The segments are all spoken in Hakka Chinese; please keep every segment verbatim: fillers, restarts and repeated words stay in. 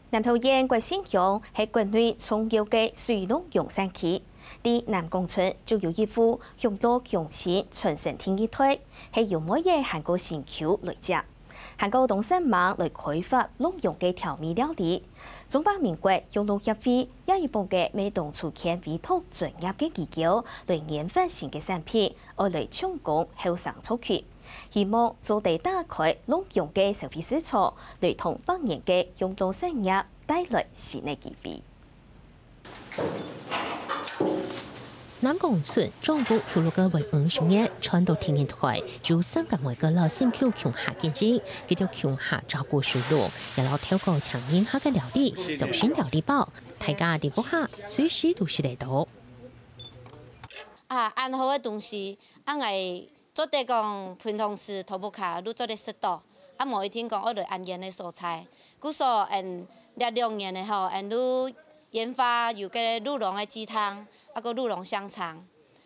南投縣國姓鄉係國內重要个水陸用產區，在南港村就有一戶鄉老鄉親傳承第二代，係由妹仔還過新舊來接，還過當煞猛來開發鹿茸个調味料理。中華民國鄉老協會也有幫个每當初牽委託專業个機構來研發新个產品，愛來搶攻後生族群。 希望做得打開鹿茸个消費市場，來同百年个鄉土產業帶來新个機會。南港村掌握畜鹿个話五十年，傳到第二代，就三个妹个老新舊共下經營，佢兜共下照顧畜鹿，也摎透過請人客个料理，做成料理包，大家在屋下隨時都食得到。啊，恁好个東西，恁个 做得講平常時頭屋下就做得食到，啊無一定講愛來恁遠个所在。故所，𫣆這兩年个吼，𫣆就研發有个鹿茸个雞湯，啊个鹿茸香腸。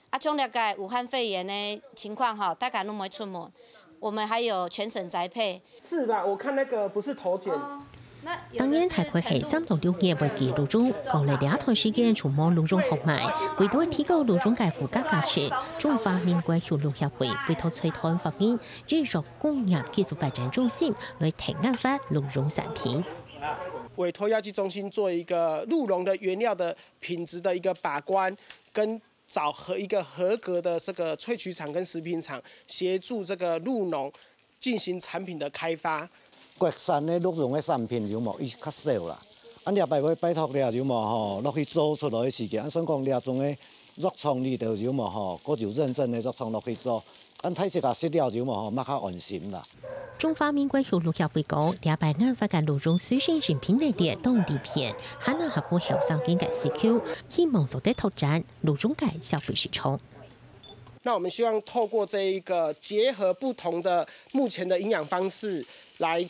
啊像這个武漢肺炎个情況吼，大家都毋會出門，我們還有全省宅配。是吧？我看那個不是頭剪。 當然，大概係三到六月會寄鹿茸，過了這段時間就無鹿茸好賣。為著提高鹿茸个附加價值，中華民國畜鹿協會委託財團法人醫藥工業技術發展中心來提研發鹿茸產品。委託藥劑中心做一個鹿茸的原料的品質的一個把關，跟找合一個合格的這個萃取廠跟食品廠，協助這個鹿茸進行產品的開發。國產个鹿茸个產品有無？伊較少啦。啊，這擺會拜託了有無吼，落去做出來个時間，啊，算講這種个藥廠裡頭有無吼，閣有認證个藥廠落去做，啊，大自家食了有無吼，嘛較安心啦。中華民國畜鹿協會講，這擺研發个鹿茸水生產品系列當利便，還能合乎後生人个需求，希望做得拓展鹿茸个消費市場。 那我們希望透過這一個結合不同的目前的營養方式，來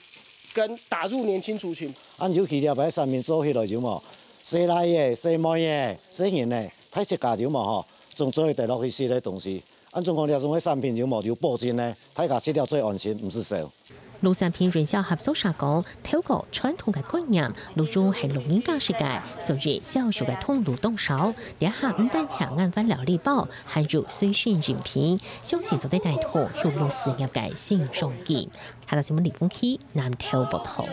跟打入年輕族群。啊，尤其這擺產品做起來有無？細倈仔、細妹仔、細人仔，大自家有無吼，總做得落去食个東西。啊，總講這種个產品有無有保證呢？大家食了最安心，毋使愁。 鹿產品潤銷合作社講，透過傳統个觀念，鹿茸係老人家食个，所以銷售个通路當少。這下毋單淨研發料理包，還有水生飲品，相信做得帶動畜鹿事業个新商機。客家新聞李鳳琪南投報導。